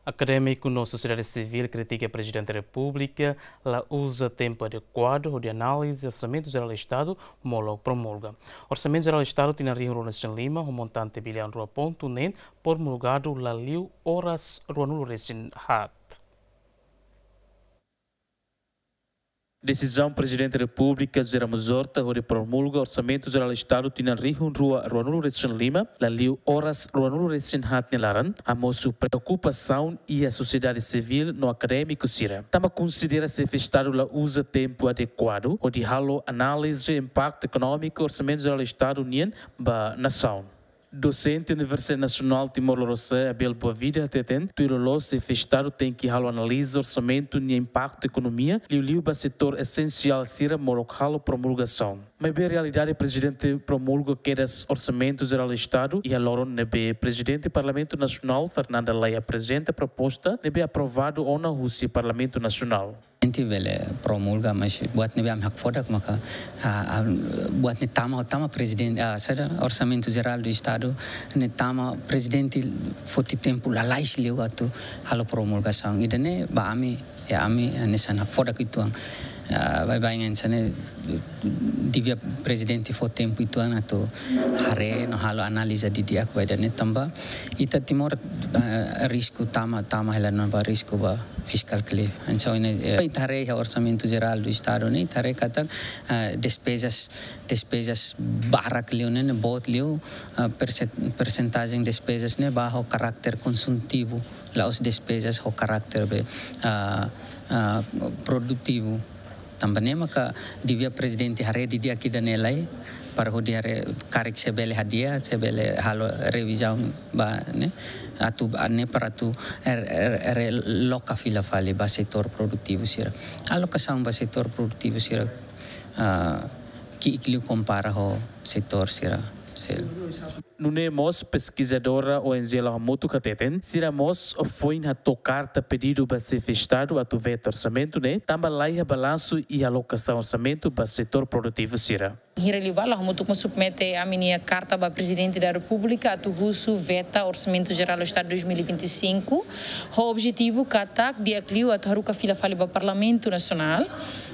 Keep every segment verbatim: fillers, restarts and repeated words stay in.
Akadémiku no sosiedade sivíl kritika Prezidente Repúblika la uza tempu adekuadu hodi analiza Orsamentu Jerál Estadu molok promulga. Orsamentu Jerál Estadu tinan rihun rua resin lima ho montante biliaun rua pontu neen promulgadu la liu oras ruanulu resin haat. Desizaun Prezidente Repúblika José Ramos Horta hodi promulga Orsamentu Jerál Estadu tinan rihun rua ruanulu resin lima la liu oras ruanulu resin haat nia laran, hamosu preokupasaun iha sosiedade sivíl no akadémiku sira. Tanba konsidera Xefe Estadu la uza tempu adekuadu hodi halo análize impaktu ekonómiku Orsamentu Jerál Estadu nian ba nasaun. Dosente Universidade Nasionál Timor Lorosa'e, Abel Boavida, hateten, tuir loloos Xefe Estadu tenke halo analiza orsamentu nia impaktu ekonomia, liuliu ba setór esensiál sira molok halo promulgasaun. Maibé realidade, Prezidente promulga kedas Orsamentu Jerál Estadu iha loron ne'ebé Prezidente Parlamentu Nasionál, Fernanda Lay, aprezenta proposta ne'ebé aprovadu ona husi Parlamentu Nasionál. Entaun bele promulga, mas buat ne'ebé ami hakfodak maka, ah, ah, buat ne'e tama, tama prezidente, ah, saida, Orsamentu Jerál Estadu ne'e tama prezidente foti tempu lalais liu atu halo promulgasaun. Ida-ne'e ba ami, iha ami, ah, hanesan hakfodak uitoan. Ah, baibain hanesan ne'e devia prezidente fó tempu uitoan atu haree no halo analiza didi'ak ba ida-ne'e tanba ita Timor, ah, risku tama, tama hela ona ba risku ba fiscal cliff. Entaun ne'e, eh, ita haree iha Orsamentu Jerál Estadu ne'e, ita haree katak, eh, despezas, despezas barak liu ne'e, ne'e boot liu, eh, persen-, persentajen despezas ne'e ba ho karáter konsumtivu, la'ós despezas ho karáter be, ah, ah, produtivu. Tanba ne'e maka devia prezidente haree didi'ak ida-ne'e lai, para hodi haree karik se bele hadi'a, se bele halo revizaun ba ne'e, atu, ah, ne'e para atu, er, er, er, realoka fila fali ba setór produtivu sira. Alokasaun ba setór produtivu sira, ah, ki'ik liu kompara ho setór sira seluk. Nune'e mós peskizadora O N G La'o Hamutuk hateten, sira mós foin hato'o karta pedidu ba Xefe Estadu atu veta orsamentu ne'e, tanba laiha balansu iha alokasaun orsamentu ba setór produtivu sira. Hira liu ba La'o Hamutuk mós submete ami-nia karta ba Prezidente da Repúblika atu husu veta Orsamentu Jerál Estadu dois mil e vinte e cinco, ho objetivu katak di'ak liu atu haruka fila fali ba Parlamentu Nasionál,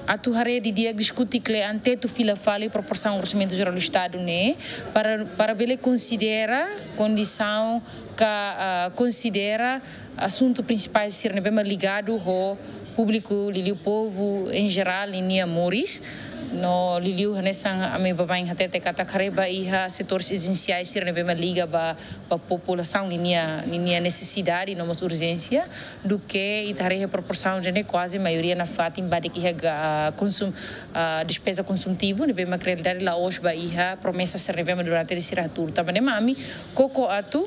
atu haree didi'ak, diskute kle'an, tetu fila fali proporsaun Orsamentu Jerál Estadu ne'e, para, para bele konsidera kondisaun ka, ah, konsidera asuntu prinsipál sira ne'ebé mak ligadu ho públiku, liuliu povu em geral ninia moris. No liuliu hanesan ami baibain hatete katak haree ba iha setór esensiál sira ne'ebé mak liga ba, ba populasaun ninia, ninia nesesidade no mós urjénsia, duké ita haree iha proporsaun ne'e kuaze maioria nafatin badak iha ga-, konsum-, ah, despeza konsumtivu, ne'ebé mak realidade la'ós ba iha promesa sira ne'ebé mak durante ne'e sira hatuur. Tanba ne'e mak ami koko atu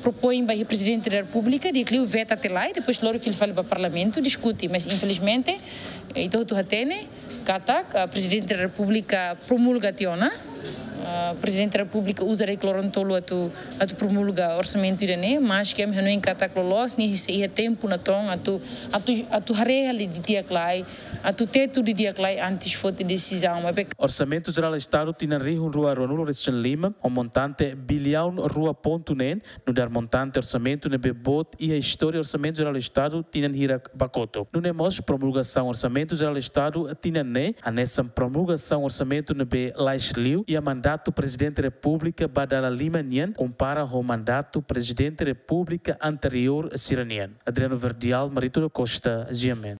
propoin ba iha Prezidente da Repúblika, di'ak liu veta tiha lai, depois lori fila fali ba Parlamentu diskute, mas infelizmente, eh, ita hotu hatene katak, ah, Prezidente da Repúblika promulga tiha ona, ah, Prezidente da Repúblika uza deklara tolu atu, atu promulga orsamentu ida-ne'e, maske ami hanoin katak loloos ne'e sei iha tempu natoon atu, atu, atu haree hela didi'ak lai, atu tetu didi'ak lai antes foti desizaun, maibé. Orsamentu Jerál Estadu tinan rihun rua ruanulu resin lima, ho montante biliaun rua pontu neen, nu'udar montante orsamentu ne'ebé boot iha istória Orsamentu Jerál Estadu tinan hirak ba kotuk. Nune'e mós promulgasaun Orsamentu Jerál Estadu tinan ne'e, hanesan promulgasaun orsamentu ne'ebé lais liu iha mandatu Prezidente Repúblika ba dala lima nian, kompara ho mandatu Prezidente Repúblika anteriór sira-nian. Adriano Verdial, Marito da Costa, G M N.